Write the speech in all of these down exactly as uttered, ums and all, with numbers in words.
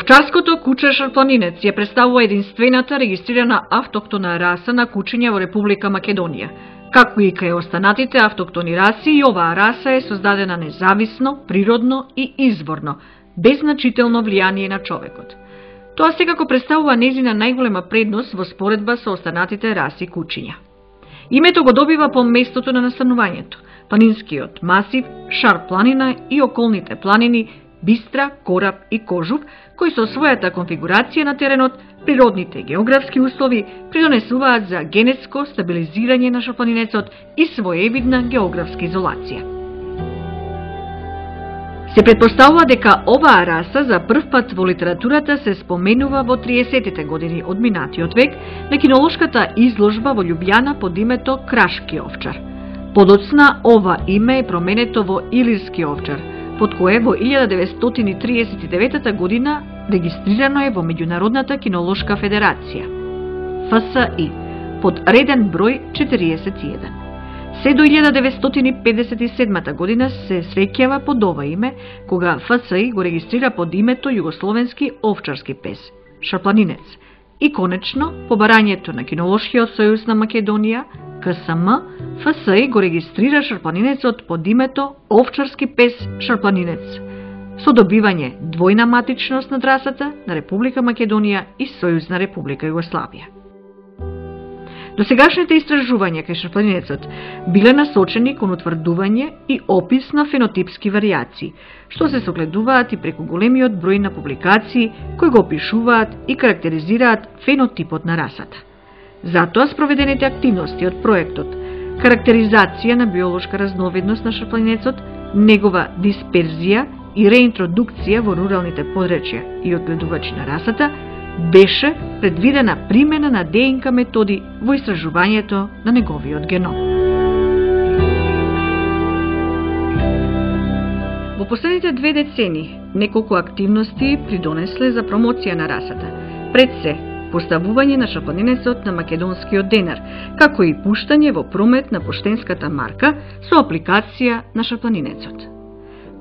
Овчарското куче шарпланинец ја представува единствената регистрирана автоктона раса на кучиња во Република Македонија. Како и кај останатите автоктони раси, и оваа раса е создадена независно, природно и изворно, без значително влијание на човекот. Тоа секако представува незина најголема предност во споредба со останатите раси кучиња. Името го добива по местото на настанувањето, планинскиот масив, Шар планина и околните планини Бистра, Кораб и Кожув, кои со својата конфигурација на теренот, природните географски услови придонесуваат за генетско стабилизирање на шарпланинецот и своевидна географска изолација. Се претпоставува дека оваа раса за прв пат во литературата се споменува во триесеттите години од минатиот век на кинолошката изложба во Љубљана под името Крашки овчар. Подоцна ова име е променето во Илирски овчар, под кое во илјада деветстотини триесет и девета година регистрирано е во Меѓународната кинолошка федерација, Ф С И, под реден број четириесет и еден. Се до илјада деветстотини педесет и седма година се среќава под ова име, кога Ф С И го регистрира под името Југословенски овчарски пес, шарпланинец, и конечно, по барањето на Кинолошкиот сојуз на Македонија, К С М, Ф С И го регистрира шарпланинецот под името Овчарски пес шарпланинец, со добивање двојна матичност на расата на Република Македонија и Сојузна Република Југославија. Досегашните истражувања кај шарпланинецот биле насочени кон утврдување и опис на фенотипски варијации, што се согледуваат и преку големиот број на публикации кои го опишуваат и карактеризираат фенотипот на расата. Затоа спроведените активности од проектот карактеризација на биолошка разновидност на шарпланинецот, негова дисперзија и реинтродукција во руралните подречја и одгледувачи на расата, беше предвидена примена на Д Н К методи во истражувањето на неговиот геном. Во последните две децени неколку активности придонесле за промоција на расата. Пред се, поставување на шарпланинецот на македонскиот денар, како и пуштање во промет на поштенската марка со апликација на шарпланинецот.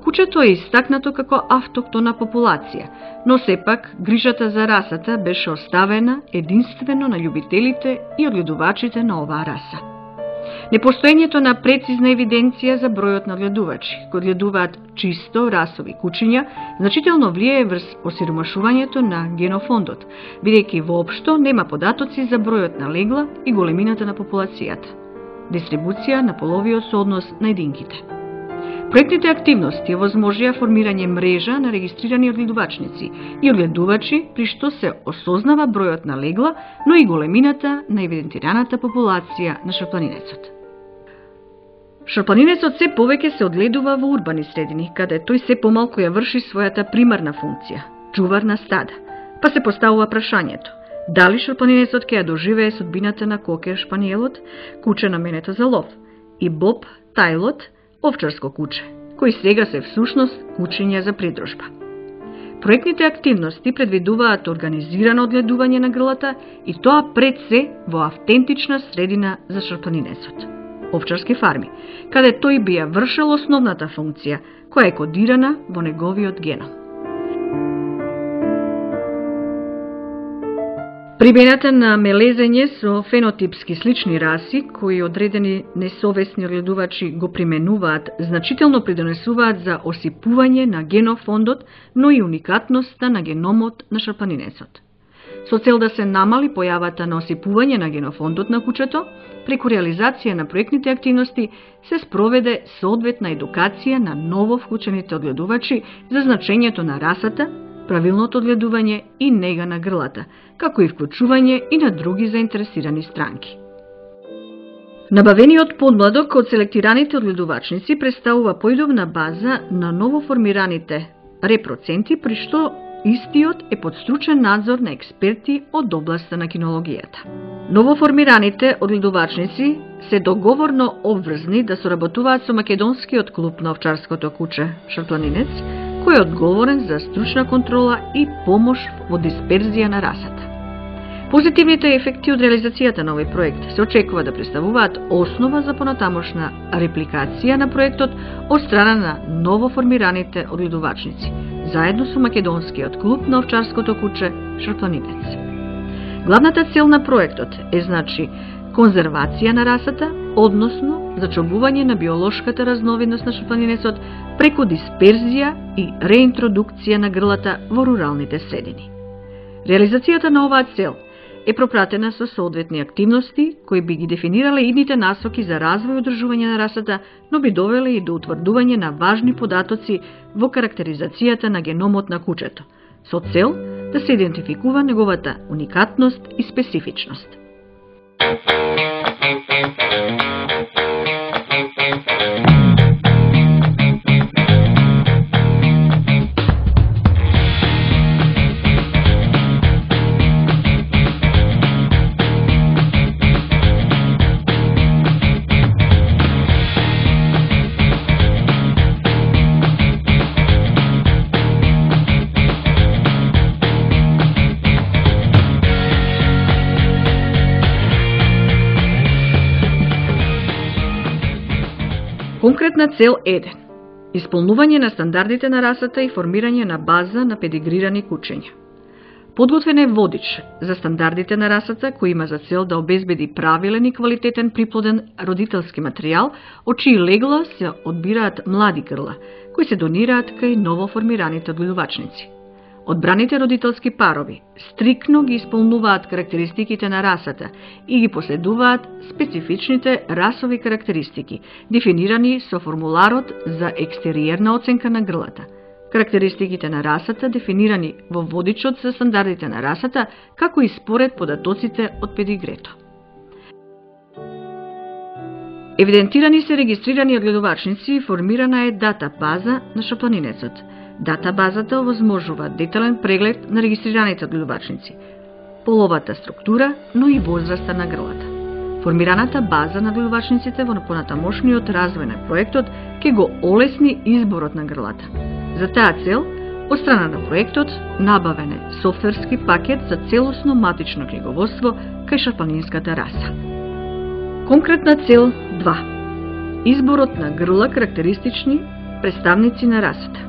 Кучето е истакнато како автоктона популација, но сепак грижата за расата беше оставена единствено на љубителите и одгледувачите на оваа раса. Непостоењето на прецизна евиденција за бројот на одгледувачи кои одгледуваат чисто расови кучиња значително влијае врз осиромашувањето на генофондот, бидејќи воопшто нема податоци за бројот на легла и големината на популацијата. Дистрибуција на половиот сооднос на единките. Проектните активности овозможија формирање мрежа на регистрирани одгледувачници и одгледувачи, при што се осознава бројот на легла, но и големината на евидентираната популација на шарпланинецот. Шарпланинецот се повеќе се одгледува во урбани средини, каде тој се помалку ја врши својата примарна функција – чувар на стада, па се поставува прашањето дали шарпланинецот ќе ја доживее судбината на кокер шпаниелот, куче наменето за лов, и боб тајлот, овчарско куче, кои сега се всушност кучиња за придружба. Проектните активности предвидуваат организирано одгледување на грлата и тоа пред се во автентична средина за шарпланинецот – овчарски фарми, каде тој би ја вршел основната функција, која е кодирана во неговиот геном. Примената на мелезење со фенотипски слични раси, кои одредени несовесни одгледувачи го применуваат, значително придонесуваат за осипување на генофондот, но и уникатноста на геномот на шарпланинецот. Со цел да се намали појавата на осипување на генофондот на кучето, преку реализација на проектните активности се спроведе соодветна едукација на ново вклучените одгледувачи за значењето на расата, правилното одгледување и нега на грлата, како и вклучување и на други заинтересирани странки. Набавениот подмладок од селектираните одгледувачници представува појдовна база на новоформираните репроценти, при што истиот е под стручен надзор на експерти од областа на кинологијата. Новоформираните одгледувачници се договорно обврзни да соработуваат со македонскиот клуб на овчарското куче Шарпланинец, кој е одговорен за стручна контрола и помош во дисперзија на расата. Позитивните ефекти од реализацијата на овој проект се очекува да представуваат основа за понатамошна репликација на проектот од страна на новоформираните одгледувачници, заедно со македонскиот клуб на овчарското куче Шарпланинец. Главната цел на проектот е, значи, конзервација на расата, односно зачувување на биолошката разновидност на шарпланинецот преку дисперзија и реинтродукција на грлата во руралните средини. Реализацијата на оваа цел е пропратена со соодветни активности кои би ги дефинирале идните насоки за развој и одржување на расата, но би довеле и до утврдување на важни податоци во карактеризацијата на геномот на кучето, со цел да се идентификува неговата уникатност и специфичност. Конкретна цел еден. Исполнување на стандардите на расата и формирање на база на педигрирани кучења. Подготвен е водич за стандардите на расата кој има за цел да обезбеди правилен и квалитетен приплоден родителски материјал, од чии легла се одбираат млади грла, кои се донираат кај новоформираните одгледувачници. Одбраните родителски парови стрикно ги исполнуваат карактеристиките на расата и ги последуваат специфичните расови карактеристики, дефинирани со формуларот за екстериерна оценка на грлата. Карактеристиките на расата дефинирани во водичот за стандардите на расата, како и според податоците од педигрето. Евидентирани се регистрирани одгледувачници и формирана е дата база на шарпланинецот. Дата базата овозможува детален преглед на регистрираните одгледувачници, половата структура, но и возраста на грлата. Формираната база на одгледувачниците во понатамошниот развој на проектот ќе го олесни изборот на грлата. За таа цел, од страна на проектот, набавен е софтверски пакет за целосно матично книговодство кај шарпланинската раса. Конкретна цел два. Изборот на грла карактеристични представници на расата.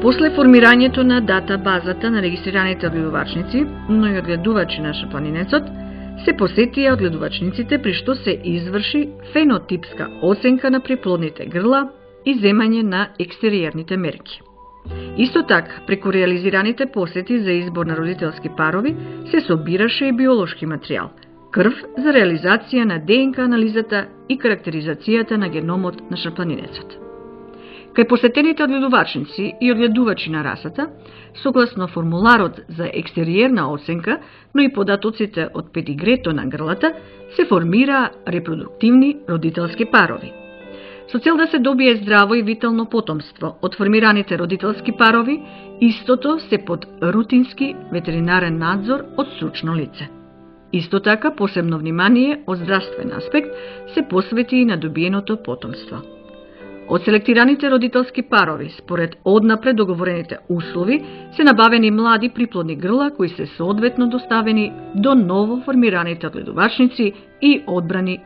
После формирањето на дата базата на регистрираните одгледувачници, но и одгледувачи на шарпланинецот, се посетија одгледувачниците при што се изврши фенотипска оценка на приплодните грла и земање на екстериерните мерки. Исто така, преку реализираните посети за избор на родителски парови, се собираше и биолошки материјал, крв за реализација на ДНК анализата и карактеризацијата на геномот на шарпланинецот. Кај посетените одгледувачници и одгледувачи на расата, согласно формуларот за екстериерна оценка, но и податоците од педигрето на грлата, се формира репродуктивни родителски парови. Со цел да се добие здраво и витално потомство од формираните родителски парови, истото се под рутински ветеринарен надзор од стручно лице. Исто така, посебно внимание од здравствен аспект се посвети и на добиеното потомство. Од селектираните родителски парови, според однапред договорените услови, се набавени млади приплодни грла кои се соодветно доставени до ново формираните одгледувачници и одбрани